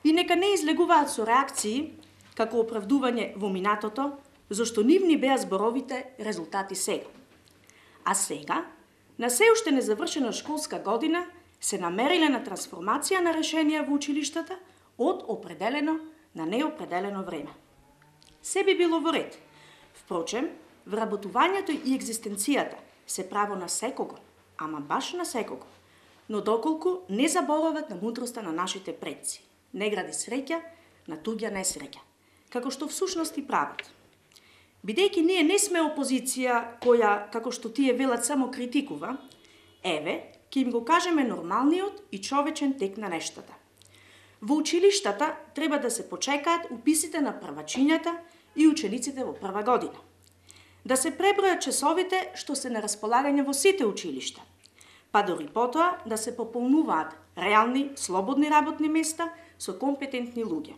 и нека не излегуваат со реакции како оправдување во минатото, зашто нивни беа зборовите резултати сега. А сега, на се уште незавршена школска година, се намериле на трансформација на решенија во училиштата од определено на неопределено време. Се би било во ред. Впрочем, вработувањето и екзистенцијата се право на секого, ама баш на секого, но доколку не заборават на мудроста на нашите предци. Не гради среќа на туѓа несреќа, како што всушност и прават. Бидејќи ние не сме опозиција која, како што тие велат, само критикува, еве, ќе им го кажеме нормалниот и човечен тек на нештата. Во училиштата треба да се почекаат уписите на првачињата и учениците во прва година. Да се пребројат часовите што се на располагање во сите училишта, па дори потоа да се пополнуваат реални, слободни работни места со компетентни луѓе.